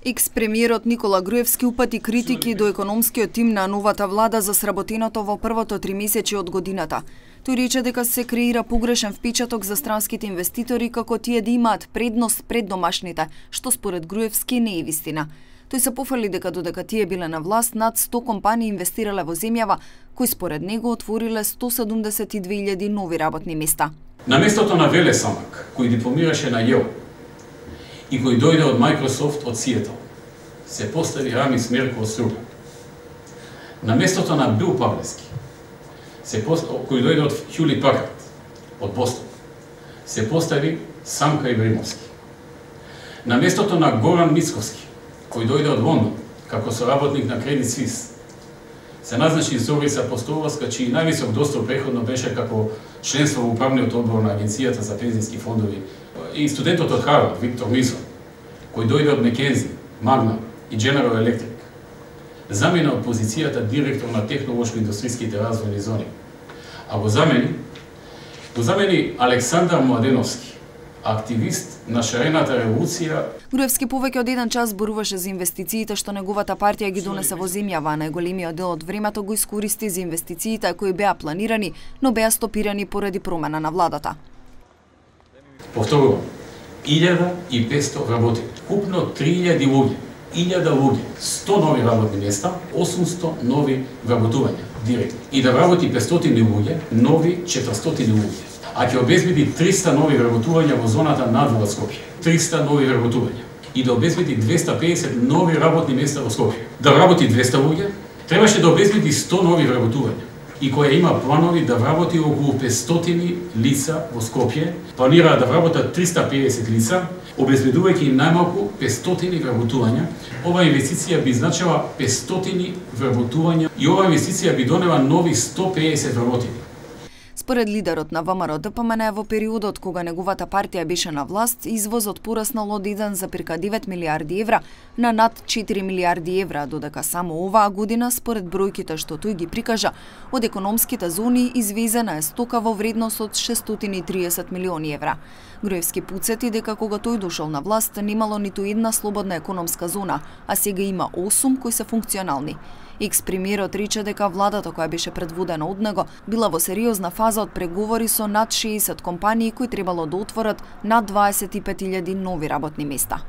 Екс-премиерот Никола Груевски упати критики до економскиот тим на новата влада за сработеното во првото тримесечје од годината. Тој рече дека се креира погрешен впечаток за странските инвеститори како тие да имаат предност пред домашните, што според Груевски не е вистина. Тој се пофали дека додека тие биле на власт, над 100 компании инвестирале во земјава, кои според него отвориле 172.000 нови работни места. На местото на Веле Самак, кој дипломираше на Јел и кој дојде од Microsoft од Сиетл, се постави Рами Смерко од Струга. На местото на Бил Павлески, кој дојде од Хјули Пакард од Бостон, се постави Самка Ибримовски. На местото на Горан Мицковски, кој дојде од Лондон како соработник на Credit Suisse, се назначи Зорица Апостоловска, чиј највисок достиг преходно беше како членство во управниот одбор на Агенцијата за пензиски фондови, и студентот од Харвард Виктор Мисон, кој дојде од Мекензи, Магна и General Electric, замена од позицијата директор на технолошко-индустријските развојни зони, а го замени Александар Младеновски, активист на шарената револуција. Груевски повеќе од 1 час зборуваше за инвестициите што неговата партија ги донесе во земјава, а најголемиот дел од времето го искористи за инвестициите кои беа планирани, но беа стопирани поради промена на владата. Повторувам, 1500 работи, купно 3000 луѓе, 1000 луѓе, 100 нови работни места, 800 нови вработувања директно. И да вработи 500 луѓе, нови 400 луѓе. А ќе обезбеди 300 нови вработувања во зоната надвор од Скопје. 300 нови вработувања. И да обезбеди 250 нови работни места во Скопје. Да вработи 200 луѓе, требаше да обезбеди 100 нови вработувања. И која има планови да вработи околу 500 лица во Скопје, планира да вработат 350 лица, обезбедувајќи им најмалку 500 вработувања. Ова инвестиција би значила 500 вработувања и ова инвестиција би донела нови 150 вработени. Според лидерот на ВМРО-ДПМН, во периодот кога неговата партија беше на власт, извозот пораснал од 1,9 милиарди евра на над 4 милиарди евра, додека само оваа година, според бројките што тој ги прикажа, од економските зони извезена е стока во вредност од 630 милиони евра. Груевски потсети дека кога тој дошол на власт, немало ниту една слободна економска зона, а сега има 8 кои се функционални. Екс-премиерот рече дека владата која беше предводена од него била во сериозна фаза од преговори со над 60 компании кои требало да отворат над 25.000 нови работни места.